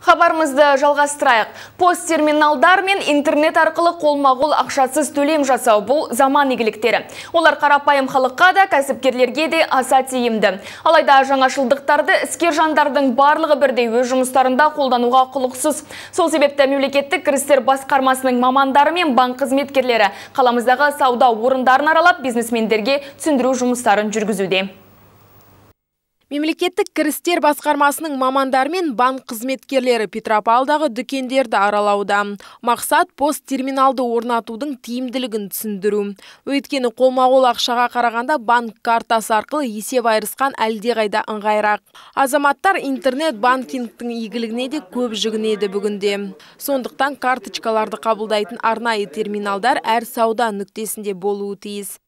Хабарымызды жалғастырайық. Пост-терминалдар мен интернет арқылы қолма-қол ақшасыз төлем жасау бұл заман игіліктері. Олар қарапайым халыққа да, кәсіпкерлерге де аса тиімді. Алайда жаңашылдықтарды іскер жандардың барлығы бірдей өз жұмыстарында қолдануға құлықсыз. Сол себепті мемлекеттік кірістер басқармасының мамандары мен банк қызметкерлері қаламыздағы сауда орындарын аралап бизнесмендерге түсіндіру жұмыстарын жүргізуде. Мемлекеттік кірістер басқармасының мамандары мен банк қызметкерлері Петропавлдағы дүкендерді аралауда. Мақсат пост-терминалды орнатудың тиімділігін түсіндіру. Өйткені қолма-қол ақшаға қарағанда банк картасы арқылы есеп айырысқан әлдеқайда ыңғайырақ. Азаматтар интернет банкингтің игілігіне де көп жүгінеді бүгінде. Сондықтан карточкаларды қабылдайтын арнайы терминалдар әр сауда нүктесінде болуы тиіс.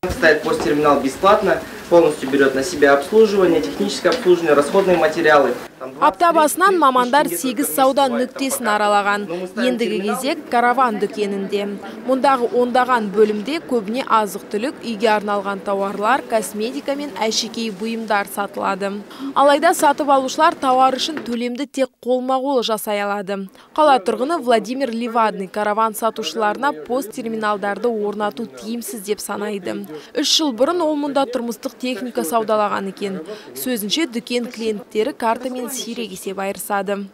Ставит пост-терминал бесплатно, полностью берет на себя обслуживание, техническое обслуживание, расходные материалы. Апта басынан мамандар 8 сауда нүктесін аралаған. Ендігі кезек караван дүкенінде. Мұндағы ондаған бөлімде көбіне азық-түлік, үйге арналған тауарлар, косметика мен әшекей бұйымдар сатылады. Алайда сатып алушылар тауар үшін төлемді тек қолма-қол жасай алады. Қала тұрғыны Владимир Ливадный караван сатушыларына пост-терминалдарды орнату тиімсіз деп санайды. 3 жыл бұрын ол мұнда тұрмыстық техника саудалаған екен. Сөзінше дүкен клиенттері картамен сирек есеп айырысады.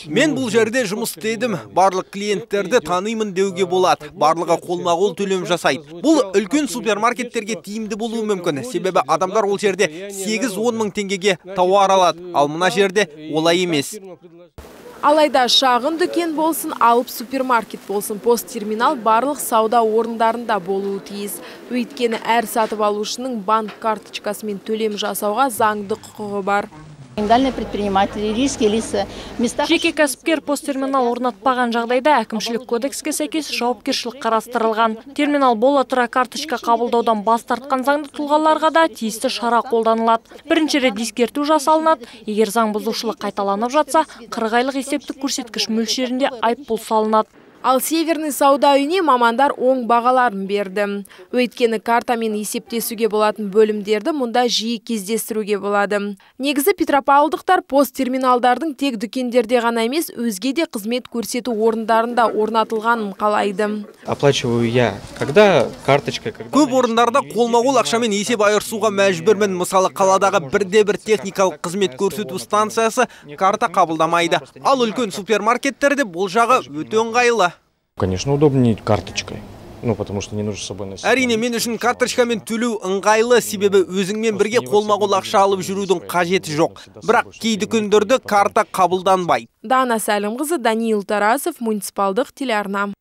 Мен бұл жерде жұмыс істедім. Барлық клиенттерді танимын деуге болады. Барлығы қолма-қол төлем жасайды. Бұл үлкен супермаркеттерге тиімді болуы мүмкін. Себебі адамдар ол жерде 8-10 мың теңгеге тауар алады. Ал мына жерде олай емес. Алайда шағын дүкен болсын, алып супермаркет болсын, пост-терминал барлық сауда орындарында болуы тиіс. Өйткені әр сатып алушының банк карточкасымен төлем жасауға заңды құқығы бар. Жеке кәсіпкер пост-терминал орнатпаған жағдайда әкімшілік кодекске сәйкес жауапкершілік қарастырылған. Терминал бола тұра карточка қабылдаудан бас тартқан заңды тұлғаларға да тиісті шара қолданылады. Бірінші рет ескерту жасалынады. Егер заң бұзушылық қайталанып жатса, 40 айлық есептік көрсеткіш мөлшерінде айыппұл салынады. Ал Северный сауда үйіне мамандар оң бағаларын берді. Өйткені картамен есептесуге болатын бөлімдерді мұнда жиі кездестіруге болады. Негізі петропавлдықтар пост-терминалдардың тек дүкендерде ғана емес, өзге де қызмет көрсету орындарында орнатылғанын қалайды. Оплачиваю я, когда карточка... Көп орындарда қолма-қол ақшамен есеп айырысуға мәжбүрмін. Мысалы, қаладағы бірде-бір техникалық қызмет көрсету станциясы карта қабылдамайды. Ал үлкен супермаркеттерде бұл жағы өте ыңғайлы. Конечно, удобнее карточкой. Потому что не нужно с собой носить. Әрине, мен үшін карточкамен төлеу ыңғайлы, себебі өзіңмен бірге қолма-қол ақша алып жүрудің қажеті жоқ. Бірақ кей дүкендерде карта қабылданбайды. Дана Сәлімқызы, Даниил Тарасов, муниципалдық телеарна.